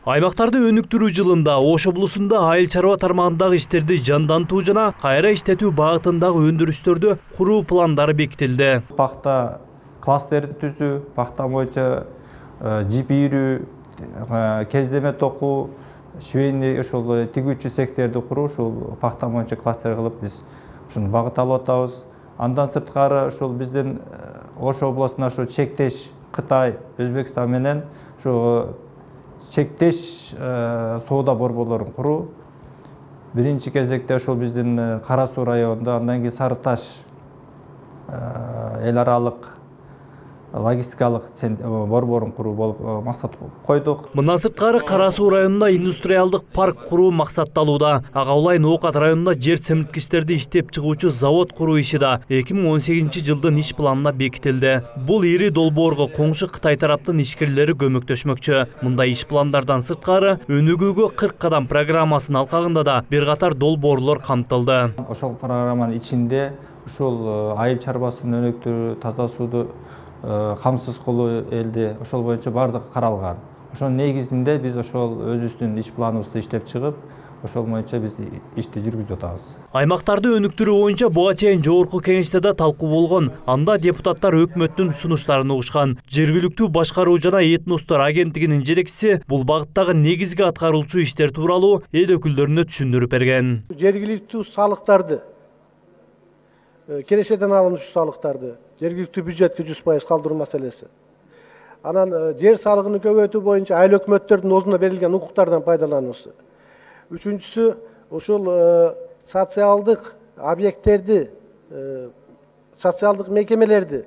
Аймактарды өнүктүрүү жылында Ош облусунда айыл чарба тармагындагы иштерди жандантуу жана кайра иштетүү багытындагы өндүрүштөрдү куруу пландары бекитилди. Пахта кластерди түзүү, пахта боюнча жип ийрүү, кездеме токуу, швейный ошол тигүүчү секторду куруу, ушул пахта боюнча кластер кылып биз ушуну багыт алып атабыз. Андан сырткары ушул биздин Ош областына ошо чектеш Кытай, Өзбекстан менен ошо чектеш соода борборлорун куруу. Биринчи кезекте ошол биздин Кара Суу районунда, андан кийин Сары Таш эл аралык логистикалык борборун куруу болуп максат койдук. Мындан сырткары Кара Суу районунда индустриалдык парк куруу максатталууда. Ага улайын Оокат районунда жер семирткичтерди иштеп чыгуучу завод куруу иши да 2018-жылдын иш планына бекитилди. Бул ири долбоорго коңшу Кытай тараптын ишкерлери көмөктөшмөкчү. Мындай иш пландардан сырткары өнүгүүгө 40 кадам программасынын алкагында да бир катар долбоорлор камтылды. Ошол программанын ичинде ушул айыл чарбасын өнүктүрүү, таза сууду камсыз кылуу элди ошол боюнча бардыгы каралган. Ошонун негизинде биз ошол өзүбүздүн иш планыбызды иштеп чыгып, ошол боюнча биз ишти жүргүзүп атабыз. Аймактарды өнүктүрүү боюнча буга чейин жогорку кеңеште да талкуу болгон. Анда депутаттар өкмөттүн сунуштарын угушкан. Жергиликтүү башкаруу жана этностор агенттигинин жетекчиси бул багыттагы негизги аткаруучу иштер тууралуу эл өкүлдөрүнө түшүндүрүп берген. Жергиликтүү салыктарды, келешеден алынуучу салыктарды жергиликтүү бюджетке 100% калдыруу маселеси. Анан жер салыгын көбөйтүү боюнча айыл өкмөттөрдүн өзүнө берилген укуктардан пайдалануусу. Үчүнчүсү ошол социалдык объекттерди, социалдык мекемелерди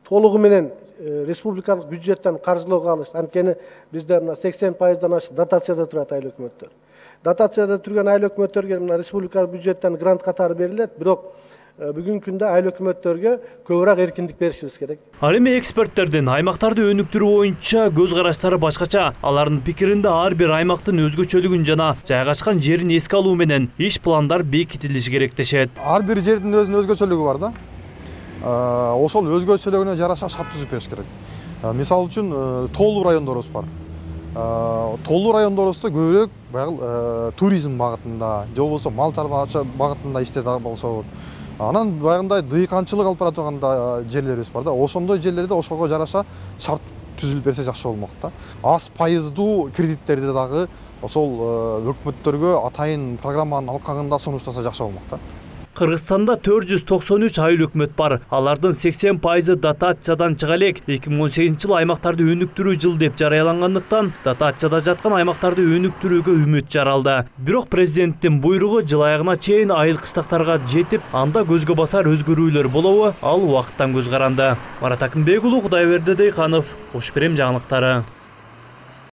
толугу менен республикалык бюджеттен каржылоого алыш. Анткени бизде 80%дан ашык дотацияда турат айыл өкмөттөр. Дотацияда турган айыл өкмөттөргө республикалык бюджеттен грант катары берилет, бирок бүгүнкү күндө айыл өкмөттөргө көбүрөөк эркиндик беришибиз керек. Ал эми эксперттердин аймактарды өнүктүрүү боюнча көз караштары башкача. Алардын пикиринде ар бир аймактын өзгөчөлүгүн жана жайгашкан жерин эске алуу менен иш пландар бекитилиши керек дешет. Ар бир жердин өзүнүн өзгөчөлүгү бар да. Ошол өзгөчөлүгүнө жараша шарт түзүп бериш керек. Мисалы үчүн тоолуу райондорубуз бар. Тоолуу райондорубузда көбүрөөк баягы туризм багытында, же болбосо мал чарбачылык багытында иштеп болсо, анан баягындай дыйканчылык алып бара турган жерлерибиз бар да. Ошондой жерлерде ошого жараша шарт түзүлүп берсе жакшы болмок да. Аз пайыздуу кредиттерди дагы ошол өкмөттөргө атайын программанын алкагында сунуштаса жакшы болмок да. Кыргызстанда 493 айыл өкмөт бар. Алардын 80% дотациядан чыга элек. 2018-жыл аймактарды өнүктүрүү жыл деп жарыялангандыктан дотацияда жаткан аймактарды өнүктүрүүгө үмүт жаралды. Бирок президенттин буйругу жыл аягына чейин айыл кыштактарга жетип, анда көзгө басар өзгөрүүлөр болобу, ал убакыттан көз каранды. Марат Акынбек уулу, Кудайберди Дыйканов, Ош Перем жаңылыктары.